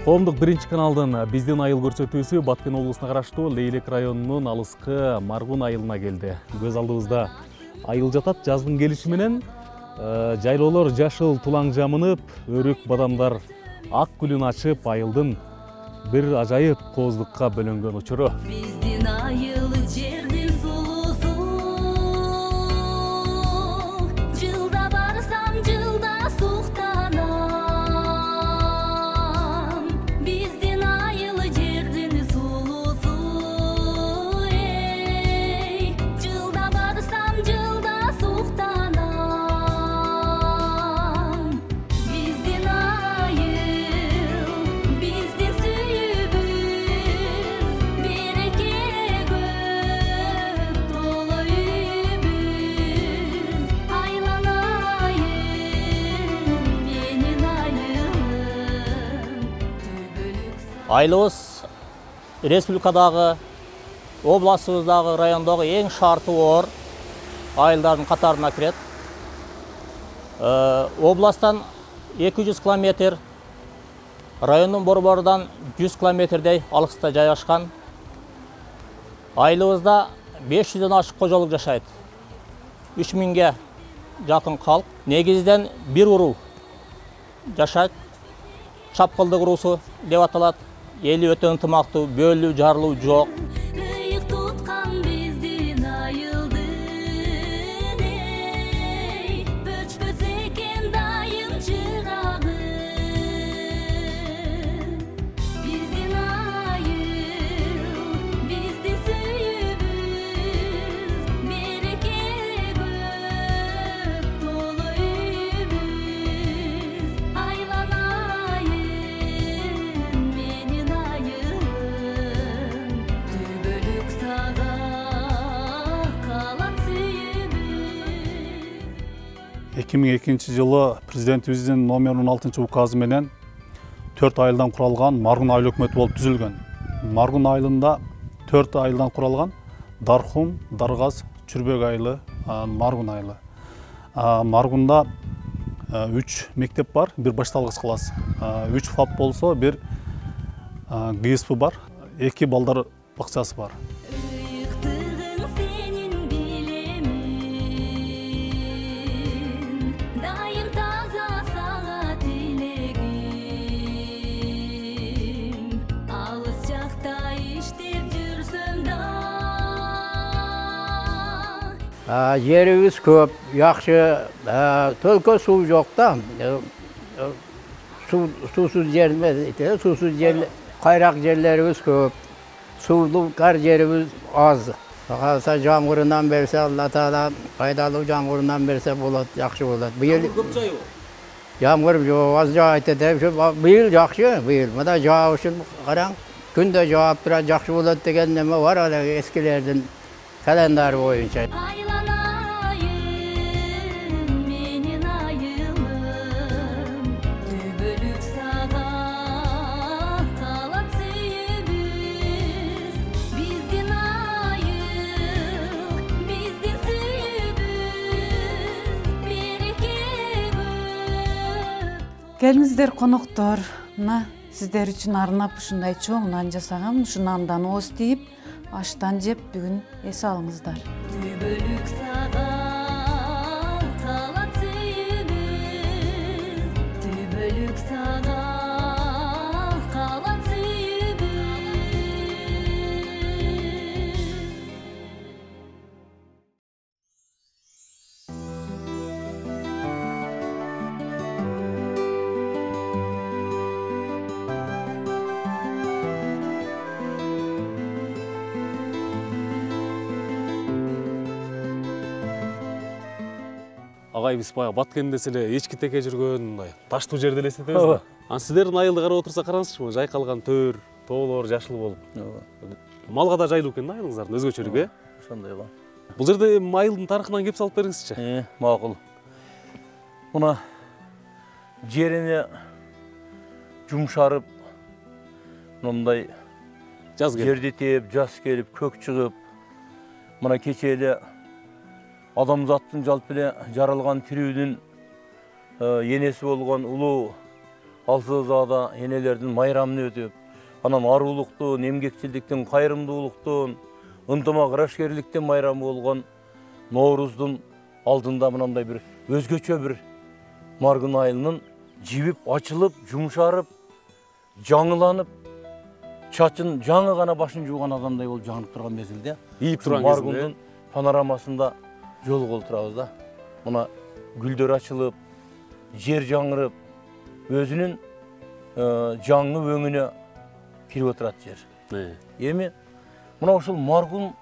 Коомдук биринчи каналдын биздин айыл көрсөтүүсү Баткен облусуна караштуу Лейлек районунун алыскы Маргун айылына келди. Көз алдыбызда айыл жатат. Жаздын келиши менен жайлоолор жашыл тулаң жамынып, өрүк бадамдар ак гүлүн ачып, айылдын бир ажайып кооздукка бөлөнгөн учуру. Биздин айыл жердин сулусу, жылда барсам жылда суктанам. Биздин айыл жердин сулусу, жылда барсам жылда суктанам. Биздин айыл, биздин сүйүүбүз, береке көп толо үйүбүз. Айлан айыл, менин айылым, төбөлүк Айылыбыз республикадагы, областыбыздагы, райондогу эң шарттуу айылдардын катарына кирет. Областтан 200 километр, райондун борборунан 100 километрдей алыста жайгашкан. Айылыбызда 500дөн ашык кожолук жашайт. 3000ге жакын калк. Негизден бир уруу жашайт. Чапкылдык уруусу деп аталат. Эли өтө ынтымактуу, бөлүү, жарылуу жок. ыйык туткан биздин айылдын, өчпөс экен дайым чырагы. Биздин айыл, биздин сүйүүбүз, береке көп толо үйүбүз. Айлан айыл, менин айылым, төбөлүк сага калат сүйүүбүз. 2002 жылы президентибиздин номер 16 указы менен 4 айылдан куралган Маргун айыл өкмөтү болуп түзүлгөн. Маргун айылында 4 айылдан куралган Дархум, Даргаз, Чүрбөк айылы, Маргун айылы. Маргунда 3 мектеп бар, бир башталгыч класс. 3 ФАП болсо, бир ГСП бар, 2 балдар бакчасы бар. Ыйыктыгың сенин билемин, дайым таза сага тилегим. Алыс жакта иштеп жүрсөм да, Жерибиз көп, жакшы, только суу жок да. Суусуз жер эмес, суусуз жер, кайрак жерлерибиз көп. Суулуу кар жерибиз аз. Калса жамгырынан берсе, Алла Таала пайдалуу жамгырынан берсе болот, жакшы болот. Быйыл Көп жайбы? жамгыр жок, аз жаайт деп, быйыл жакшы, быйыл. Мына жаабышын караң, күндө жаап турат, жакшы болот деген неме бар эле эскилердин календары боюнча. айлан айыл, менин айылым, төбөлүк сага калат сүйүүбүз. Биздин айыл, биздин сүйүүбүз, береке көп. Келиңиздер коноктор, мына сиздер үчүн арнап ушундай чоң нан жасагам. Ушу нандан ооз тийип, аштан жеп бүгүн эс алыңыздар. Төбөлүк сага калат сүйүүбүз, төбөлүк сага калат сүйүүбүз. Агай, биз баягы Баткенде эле эчки теке жүргөн, мындай таштуу жерде элестетебиз да. Анан сиздердин айылды карап отурсак караңызчы, жайкалган төр, тоолор жашыл болуп. Малга да жайлуу экен да айылыңыздардын, өзгөчөрүк, Ошондой ба. Бул жерде айылдын тарыхынан кеп салып бериңизчи. Макул. Мына жерине жумшарып, мындай Жаз келип. жерди тээп, жаз келип, көк чыгып, мына кече эле адамзаттын жалпы эле жаралган тирүүнүн енеси болгон улуу Алсызада энелердин майрамын өтүп, анан арулуктун, эмгекчилдиктин, кайрымдуулуктун, ынтымак ырашкерликтин майрамы болгон Норуздун алдында мынандай бир өзгөчө бир Маргун айылынын жибип, ачылып, жумшарып, жаңыланып, чачын жаңы гана башын жууган адамдай болуп жаңып турган мезгилде ийип турган Маргундун панорамасында жолугуп турабыз да. Мына гүлдөр ачылып, жер жаңырып, өзүнүн жаңы өңүнө кирип отурат жер. Эми мына ушул Маргун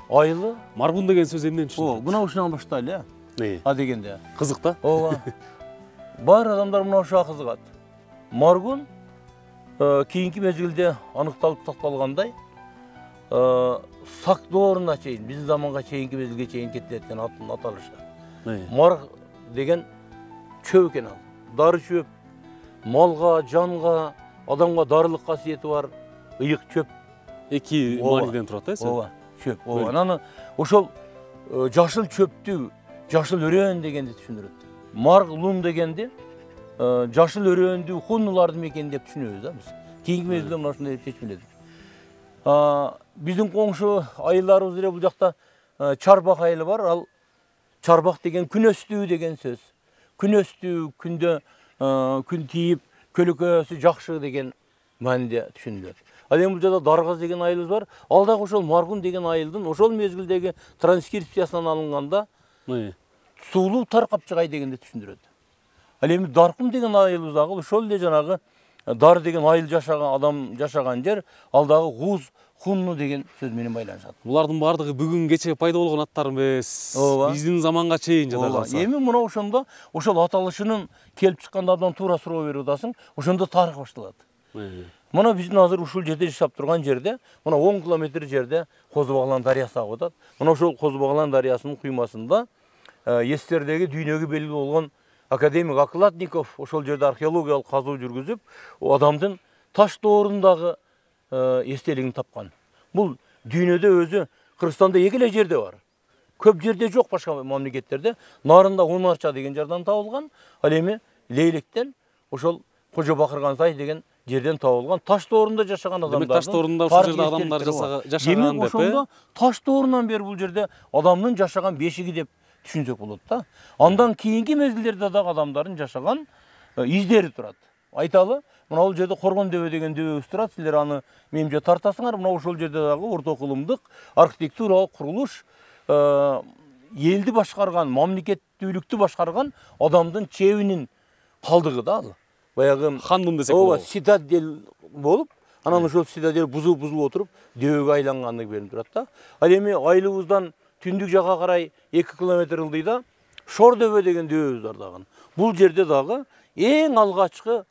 айылы, Маргун деген сөз эмнен түшүнүлөт? мына ушунан баштайлы, а дегенде. Кызык да? Ооба. Бар адамдар мына ушуга кызыгат. Маргун кийинки мезгилде аныкталып такталгандай, сак дооруна чейин, биздин заманга чейинки мезгилге чейин кеткен атын аталышы. Марг деген чөп экен ал. Дары чөп. Малга, жанга, адамга дарылык касиети бар ыйык чөп. Эки мааниден турат да? Ооба, чөп. Ооба. Анан ошол жашыл чөптү, жашыл өрөөн дегенди түшүндүрөт. Марг лун дегенди жашыл өрөөндү хуннулардын мекени деп түшүнөбүз да биз. Кийинки мезгилде мына ушундай деп чечмеледик. Биздин коңшу айылдарыбыз эле бул жакта Чарбак айылы бар. Ал Чарбак деген күн өстүү деген сөз. Күн өстүү, күндө күн тийип, көлөкөсү жакшы деген мааниде түшүнүлөт. Ал эми бул жерде Даргаз деген айылыбыз бар. Ал дагы ошол Маргун деген айылдын ошол мезгилдеги транскрипциясынан алынганда суулуу Таркапчыгай дегенди түшүндүрөт. Ал эми Даркум деген айылыбыз дагы ошол эле жанагы Дар деген айыл жашаган, адам жашаган жер, ал дагы Гуз, Хунну деген сөз менен байланышат. Булардын баардыгы бүгүн кече пайда болгон аттар эмес. Биздин заманга чейин жада калса. Эми мына ошондо ошол аталышынын келип чыкканда абдан туура суроо берип атасың, ошондо тарых башталат. Мына биздин азыр ушул жерде жашап турган жерде, мына 10 километр жерде Козу Баглан дарыясы агып атат. Мына ошол Козу Баглан дарыясынын куймасында эстердеги дүйнөгө белгилүү болгон академик Окладников ошол жерде археологиялык казуу жүргүзүп, адамдын таш доорундагы эстелигин тапкан. Бул дүйнөдө өзү Кыргызстанда эки эле жерде бар. Көп жерде жок башка мамлекеттерде. Нарында Унарча деген жерден табылган. Ал эми Лейлектен ошол Кожо Бакырган сай деген жерден табылган таш доорунда жашаган адамдар. Демек таш доорунда ушул жерде адамдар жашаган деп. Ошондо таш доорунан бери бул жерде адамдын жашаган бешиги деп түшүнсөк болот да. Андан кийинки мезгилдерде дагы адамдардын жашаган издери турат. Айталы, мына бул жерде Коргон дөбө деген дөбөбүз турат. Силер аны менимче тартасыңар. Мына ошол жерде дагы орто кылымдык архитектуралык курулуш, элди башкарган, мамлекеттүүлүктү башкарган адамдын чебинин калдыгы да ал. Баягы хандым десек болот. Ооба, цитадель болуп, анан ошол цитадель бузулуп отуруп, дөбөгө айлангандыгы берип турат да. Ал эми айылыбыздан түндүк жакка карай 2 километр ылдыйда Шор дөбө деген дөбөбүз бар дагы. Бул жерде дагы эң алгачкы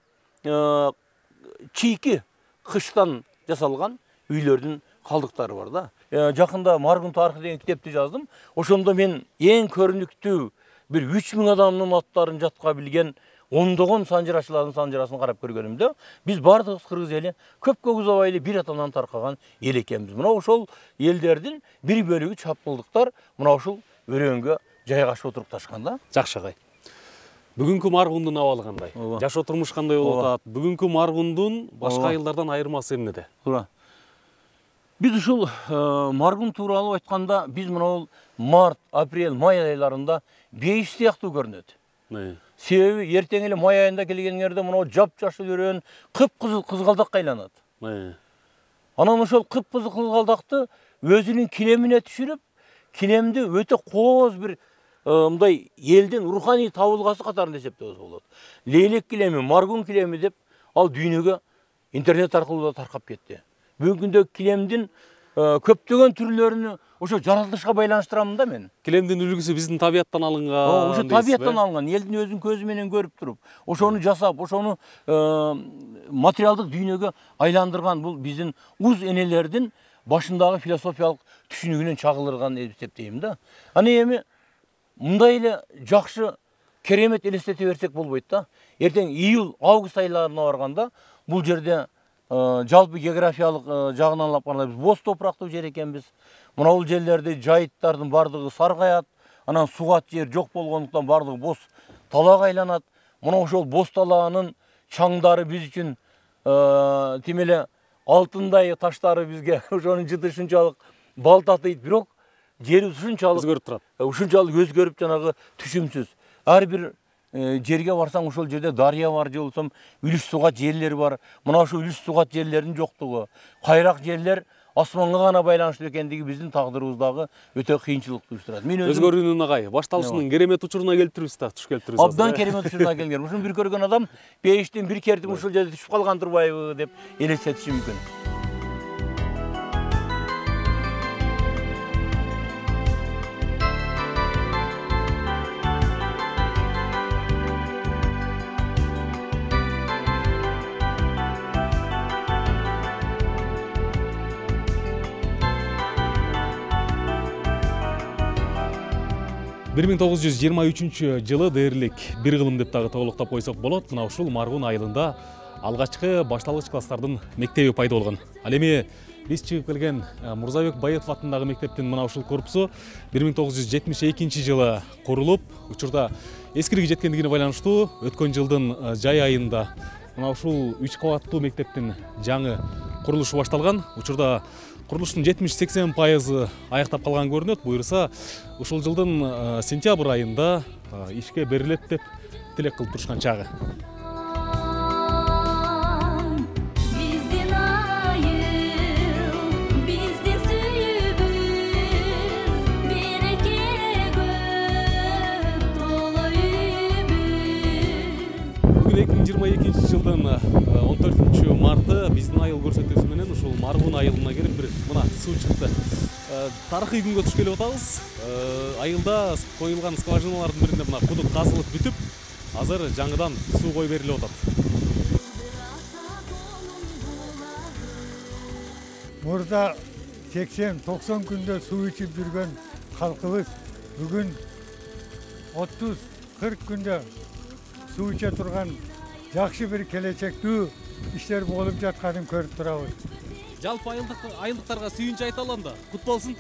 чийки кыштан жасалган үйлөрдүн калдыктары бар да. Жакында Маргун тарыхы деген китепти жаздым. Ошондо мен эң көрүнүктүү бир 3000 адамдын аттарын жатка билген ондогон санжырачылардын санжырасын карап көргөнүмдө, биз бардыгыбыз кыргыз эли көп узабай эле бир атадан таркаган эл экенбиз. Мына ошол элдердин бир бөлүгү чапкылдыктар мына ушул өрөөнгө жайгашып отурупташкан да. Жакшы агай. Бүгүнкү Маргундун абалы кандай? Жашоо турмуш кандай болуп атат? Бүгүнкү Маргундун башка айылдардан айырмасы эмнеде? Туура. Биз ушул Маргун тууралуу айтканда, биз мына март, апрель, май айларында бейиш сыяктуу көрүнөт. Себеби эртең эле май айында келгениңерде мына жап-жашыл өрөөн кып-кызыл кызгалдакка айланат. Анан ошол кып-кызыл кызгалдакты өзүнүн килемине түшүрүп, килемди өтө кооз бир мындай элдин руханий табылгасы катарында эсептебиз болот. Лейлек килеми, Маргун килеми деп ал дүйнөгө интернет аркылуу да таркап кетти. Бүгүнкү күндө килемдин көптөгөн түрлөрүнү ошо жаратылышка байланыштырам да мен. Килемдин үлгүсү биздин табияттан алынган. Ошо табияттан алынган, элдин өзүнүн көзү менен көрүп туруп, ошону жасап, ошону материалдык дүйнөгө айландырган бул биздин уз энелердин башындагы философиялык түшүнүгүнөн чагылдырган деп эсептейм да. Аны эми мындай эле жакшы керемет элестете берсек болбойт да. Эртең июль, август айларына барганда бул жерде жалпы географиялык жагынан алып караганда биз боз топурактуу жер экенбиз. Мына бул жерлерде жайыттардын бардыгы саргаят, анан сугат жер жок болгондуктан бардыгы боз талаага айланат. Мына ошол боз талаанын чаңдары биз үчүн тим эле алтындай таштары бизге ошонун жыты ушунчалык бал татыйт, бирок жери ушунчалык өзгөрүп турат. Ушунчалык өзгөрүп жанагы түшүмсүз. Ар бир жерге барсаң ошол жерде дарыя бар же болбосо үлүш сугат жерлер бар. Мына ошо үлүш сугат жерлердин жоктугу, кайрак жерлер асманга гана байланыштуу экендиги биздин тагдырыбыздагы өтө кыйынчылыкты уюштурат. Мен өзүм Өзгөрүүнүн агай башталышынын керемет учуруна келиптирбиз да, туш келиптирбиз. абдан керемет учуруна келген. Ушуну бир көргөн адам пейиштин бир кертим ушул жерде түшүп калган турбайбы деп элестетиши мүмкүн. Бир 1923 жылы дээрлик бир кылым деп дагы толуктап койсок болот. Мына ушул Маргун айылында алгачкы башталгыч класстардын мектеби пайда болгон. Ал эми биз чыгып келген Мурзабек Байытов атындагы мектептин мына ушул корпусу 1972 жылы курулуп, учурда эскириги жеткендигине байланыштуу өткөн жылдын жай айында мына ушул 3 кабаттуу мектептин жаңы курулушу башталган. Учурда курулуштун 70-80% аяктап калган көрүнөт. Буюрса ушул жылдын сентябрь айында ишке берилет деп тилек кылып турушкан чагы. Биздин айыл, биздин сүйүүбүз, береке көп толо үйүбүз. Бүгүн 2022 жылдын 14 марты биздин айыл көрсөтүүсү менен ушул Маргун айылына келип бир мына суу чыкты. Тарыхый күнгө туш келип атабыз. Айылда коюлган скважиналардын биринде мына кудук казылып бүтүп, азыр жаңыдан суу кой берилип атат. Мурда 80-90 күндө суу ичип жүргөн калкыбыз бүгүн 30-40 күндө суу иче турган жакшы бир келечектүү иштер болуп жатканын көрүп турабыз. Жалпы айылдыктарга сүйүнүч айта алам да, кут болсун.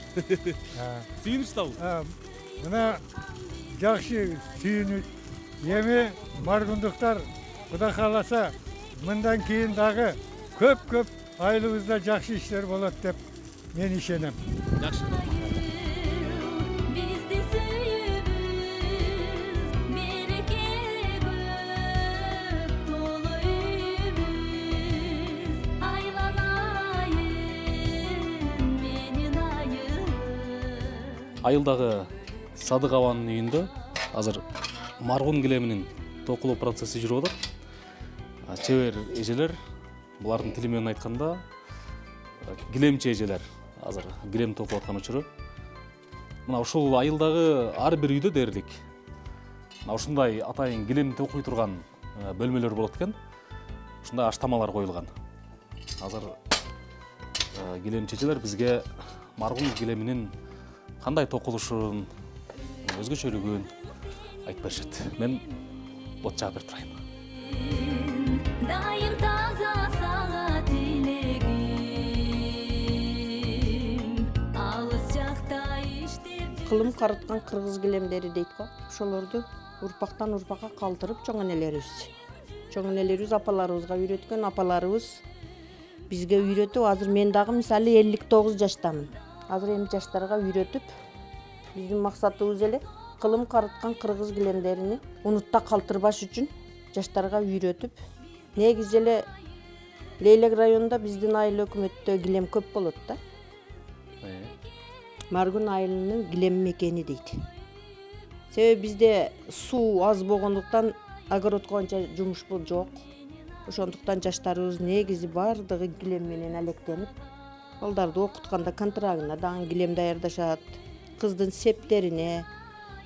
Сүйүнүч табыл. Мына жакшы сүйүнүч. Эми маргундуктар Кудай кааласа мындан кийин дагы көп айылыбызда жакшы иштер болот деп мен ишенем. Жакшы. Биздин сүйүүбүз, береке көп толо үйүбүз. Айланайын менин айылым. Айылдагы Садык абанын үйүндө азыр Маргун килеминин токулуу процесси жүрүп атат. Чебер эжелер, булардын тили менен айтканда килемчи эжелер азыр килем токуп аткан учуру. Мына ушул айылдагы ар бир үйдө дээрлик мына ушундай атайын килем токуй турган бөлмөлөр болот экен. Ушундай аштамалар коюлган. Азыр килемчи эжелер бизге Маргун килеминин кандай токулушун, өзгөчөлүгүн айтып беришет. Мен бот жаап берип турайын. Дайым таза сага тилегим, алыс жакта иштеп Кылым карыткан кыргыз килемдери дейт го. Ошолорду урпактан урпакка калтырып чоң энелерибиз апаларыбызга үйрөткөн, апаларыбыз бизге үйрөтүп, азыр мен дагы мисалы 59 жаштамын. Азыр эми жаштарга үйрөтүп, биздин максатыбыз эле кылым карыткан кыргыз килемдерини унутта калтырбаш үчүн жаштарга үйрөтүп, негизи эле Лейлек районунда биздин айыл өкмөттө килем көп болот да. Маргун айылынын килем мекени дейт. Себеби бизде суу аз болгондуктан огородко анча жумуш жок. Ошондуктан жаштарыбыз негизи бардыгы килем менен алектенип, балдарды окутканда контрагына дагы килем даярдашат. Кыздын септерине,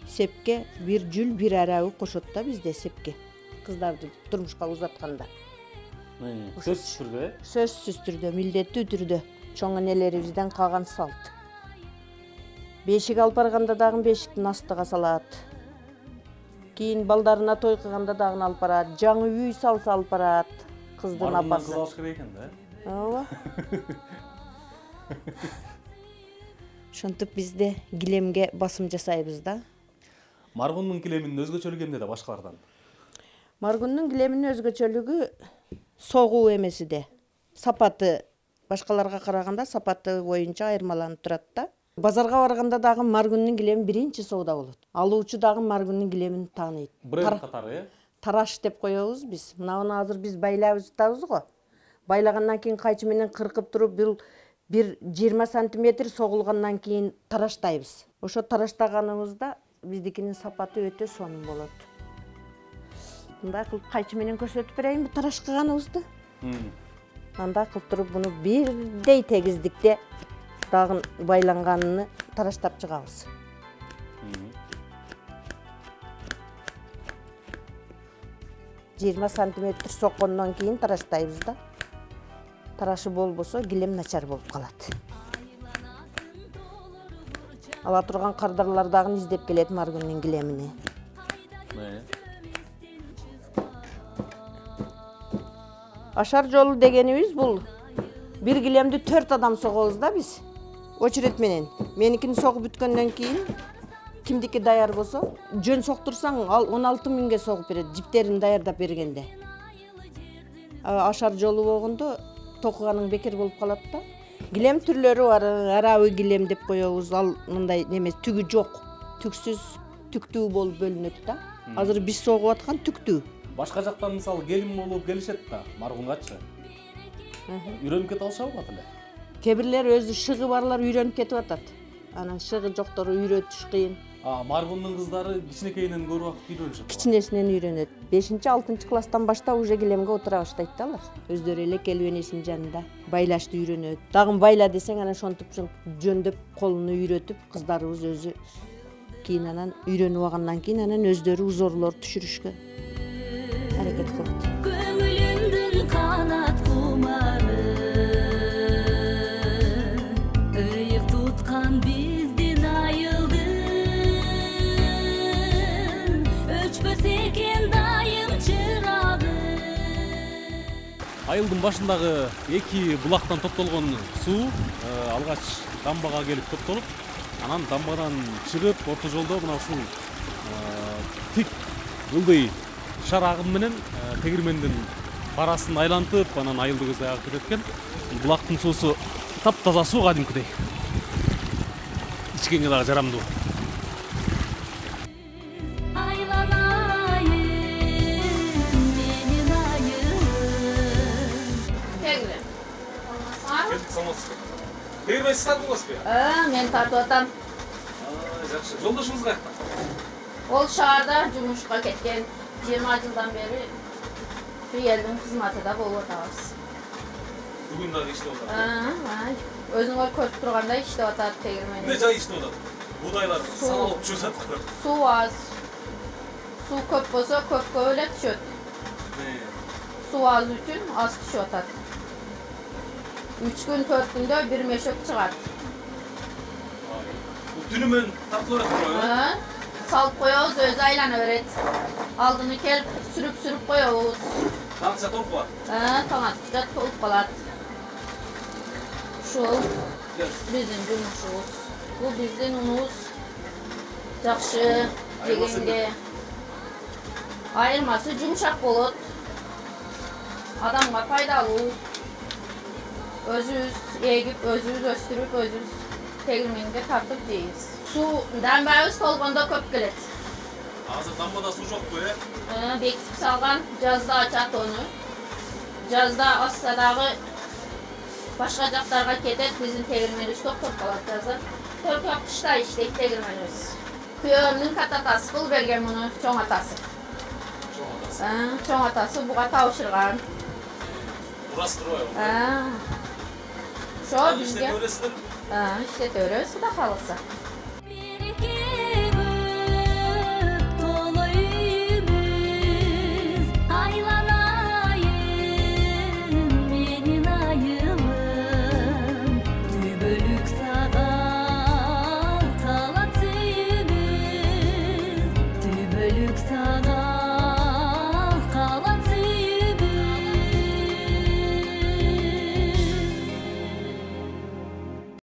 сепке бир жүл бир арабы кошот да бизде сепке. Кыздарды турмушка узатканда. Сөзсүз түрдө, Сөзсүз түрдө, милдеттүү түрдө чоң энелерибизден калган салт. Бешик алып барганда дагы бешиктин астыга салат. Кийин балдарына той кылганда дагы алып барат. Жаңы үй салса алып барат. Кыздын апасы. кыз алыш керек экен да. Ооба. Ошентип бизде килемге басым жасайбыз да. Маргундун килеминин өзгөчөлүгү эмнеде башкалардан? Маргундун килеминин өзгөчөлүгү согуу эмесиде. Сапаты башкаларга караганда сапаты боюнча айырмаланып турат да. Базарга барганда дагы маргундун килеми биринчи соода болот. Алуучу дагы маргундун килемин тааныйт. Бренд катары, Тараш деп коебуз биз. Мынауну азыр биз байлап жатабыз го. Байлагандан кийин кайчы менен кыркып туруп, бир 20 сантиметр согулгандан кийин тараштайбыз. Ошо тараштаганыбызда биздикинин сапаты өтө сонун болот. Мындай кылып кайчы менен көрсөтүп берейинби тараш кылганыбызды? Анда кылып туруп буну бирдей тегиздикте дагы байланганын тараштап чыгабыз. сантиметр соккондон кийин тараштайбыз да. Тарашы болбосо килем начар болуп калат. Ала турган кардарлар дагы издеп келет маргундун килемини. Ашар жолу дегенибиз бул бир килемди 4 адам согобуз да биз. Очеред менен. Меникини согуп бүткөндөн кийин кимдики даяр болсо, жөн соктурсаң ал 16 миңге согуп берет, жиптерин даярдап бергенде. Ашар жолу болгондо токуганың бекер болуп калат да. Килем түрлөрү бар, арабы килем деп коебуз. Ал мындай немес, түгү жок, түксүз, түктүү болуп бөлүнөт да. Азыр биз согуп аткан түктүү. Башка жактан мисалы келин болуп келишет да, маргунгачы. Үйрөнүп кете алышабы бат эле? Кээ бирлер өзү шыгы барлар үйрөнүп кетип атат. Анан шыгы жоктору үйрөтүш кыйын. Маргундун кыздары кичинекейинен көрүп акып үйрөнүшөт. Кичинесинен үйрөнөт. 5-6 класстан баштап уже килемге отура баштайт да алар. Өздөрү эле келип энесинин жанында байлашты үйрөнөт. Дагы байла десең анан ошентип жөндөп колуну үйрөтүп, кыздарыбыз өзү кийин анан үйрөнүп алгандан кийин анан өздөрү узорлор түшүрүшкө аракет кылат. Көңүлүмдүн канат кумары ыйык туткан биздин айылдын өчпөс экен дайым чырагы. Айылдын башындагы эки булактан топтолгон суу алгач дамбага келип топтолуп, анан дамбадан чыгып орто жолдо мына ушул тик ылдый шар агым менен тегирмендин барасын айлантып, анан айылды көздөй агып кетет экен. Булактын суусу таптаза суу кадимкидей. Ичкенге дагы жарамдуу. Тегирмен сиз тартып аласызбы? Мен тартып атам. Жакшы. Жолдошуңуз каякта? Ол шаарда жумушка кеткен. 20 жылдан бери элдин кызматында болуп атабыз. Бүгүн дагы иштеп атат. Өзүңөр көрүп тургандай иштеп атат тегирмен. Эмне жай иштеп атат? Будайлар саналып түшүп атат го. Суу аз. Суу көп болсо көпкө эле түшөт. Суу аз үчүн аз түшүп атат. 3 күн 4 күндө бир мешок чыгат. Түнү менен тартылып берет. Салып коебуз, өзү айлана берет. Алдыны келип сүрүп коебуз. Таңча толуп калат. Таң аткыча толуп калат. Ушул биздин жумушубуз. Бул биздин унубуз. Жакшы жегенге. Айырмасы жумшак болот. Адамга пайдалуу. Өзүбүз эгип, өзүбүз өстүрүп, өзүбүз тегирменге тартып жейбиз. Суу дамбабыз толгондо көп келет. Азыр дамбада суу жокпу, Бекитип салган, жазда ачат ону. Жазда ачса дагы башка жактарга кетет, биздин тегирменибиз токтоп калат жазда. Только кышта иштейт тегирменибиз. Күйөөмдүн кататасы кыл берген муну, чоң атасы. Чоң атасы буга табышырган. Урастырбайбы? Ошо бизге иштете беребиз, Кудай кааласа. Сага